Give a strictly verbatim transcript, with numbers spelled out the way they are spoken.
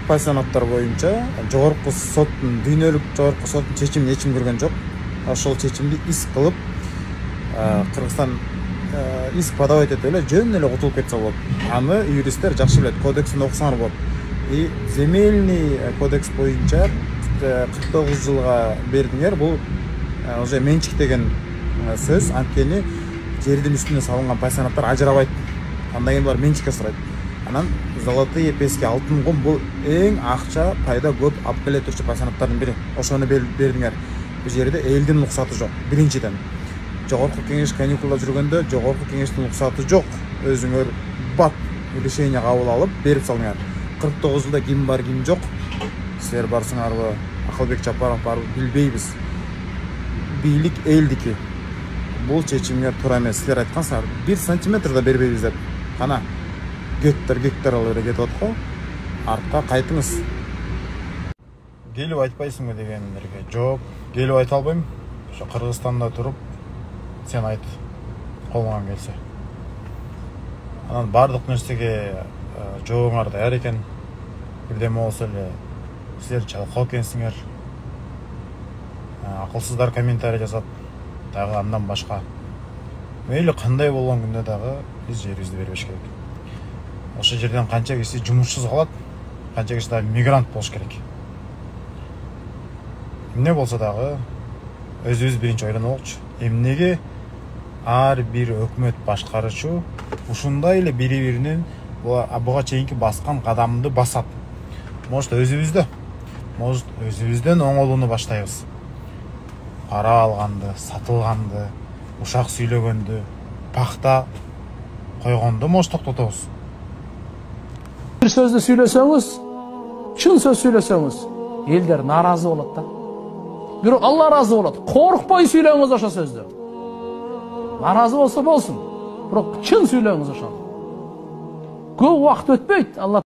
пай санаттар боюнча жогорку соттун дүйнөлүк жогорку соттун чечимине эчим көргөн жок. Ошол чечимди иск кылып Кыргызстан иск подавать этип эле жөн эле утулуп кетсе болот. Аны юристтер жакшы билет, кодексин окусаңар болот. И земельный кодекс боюнча кырк тогуз жылга бердиңер. Бул уже менчик деген сөз. Анткени жердин үстүнө салынган пай санаттар ажырабайт. Андан кийин булар менчикке сурайт. Анан золотые пески, алтын кум бул эң акча пайда көп алып келе турчу пай санаттардын бири. Ошону бердиңер. Бул жерде элдин уруксаты жок. Биринчиден. Жогорку кеңеш каникулда жүргөндө жогорку кеңештин уруксаты жок. Өзүңөр бат решение кабыл алып берип салыңар. кырк тогуз жылда ким бар, ким жок. Силер барсыңарбы, Акылбек Жапаров барбы билбейбиз. Бийлик элдики. Бул чечимге туура эмес. Силер айткансыңар, бир сантиметр да бербейбиз деп. Кана гектар гектар алып кетип атат. Артка кайтыңыз. Келип айтпайсыңбы дегендерге жооп, келип айта албайм. Ошо Кыргызстанда туруп сен айт, колуңан келсе. Анан бардык нерсеге жообуңар даяр экен. Бирдеме болсо эле силер жалкоо экенсиңер. Акылсыздар комментарий жазат. Дагы андан башка. Мейли кандай болгон күндө дагы биз жерибизди бербеш керек. Ошол жерден канча киши жумушсуз калат, канча киши дагы мигрант болуш керек. Эмне болсо дагы өзүбүз биринчи ойлонолучу. Эмнеге ар бир өкмөт башкаручу ушундай эле бири-биринин буга чейинки баскан кадамды басат. Может өзүбүздө, может өзүбүздөн оңолууну баштайбыз. Пара алганды, сатылганды, ушак сүйлөгөндү, пакта койгондо может токтотобуз. Бир сөздү сүйлөсөңүз, чын сөз сүйлөсөңүз, элдер нааразы болот да. Бирок Алла ыраазы болот. Коркпой сүйлөңүз ошо сөздү. Нааразы болсо болсун, бирок чын сүйлөңүз ошону. Көп убакыт өтпөйт, Алла